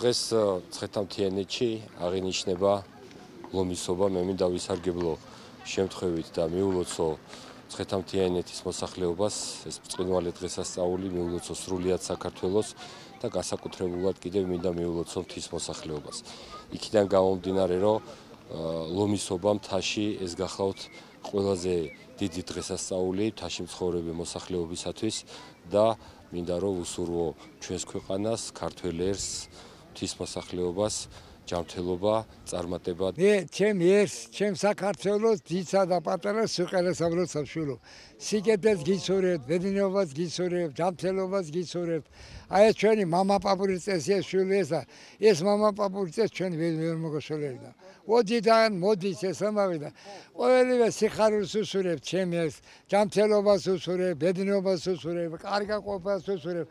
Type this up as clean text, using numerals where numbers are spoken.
დღეს ცხეთამთიანეთში აღინიშნება ლომისობა. მე მინდა ვისარგებლო შემთხვევით და მიულოცო ცხეთამთიანეთის მოსახლეობას, ეს ბრწყინვალე დღესასწაული მიულოცო სრულიად საქართველოს და განსაკუთრებულად კიდევ მინდა მიულოცო მთის მოსახლეობას. იქიდან გამომდინარე, რომ ლომისობა მთაში ეს გახლავთ ყველაზე დიდი დღესასწაული მთაში მცხოვრები მოსახლეობისათვის და მინდა რომ ვუსურვო ჩვენს ქვეყანას, ქართველ ერს, მთის მოსახლეობას ჯანმრთელობა, წარმატება. მე ჩემ ერს, ჩემ საქართველოს ძიცა და პატარას სიყელესაბროს სამშვილო. სიკეთეს გიცურებთ, ბედნიერებას გიცურებთ, ჯანმრთელობას გიცურებთ. აი ჩვენი მამა პაპურიცეს ეს შვილი ეს მამა პაპურიცეს ჩვენ ვერ მოგოშოლერდა. ოდიდან მოდის ეს ამავე და ყოველივე სიხარულს უსურებ ჩემ ერს, ჯანმრთელობას უსურებ, ბედნიერებას უსურებ, კარგა ყოფას უსურებ.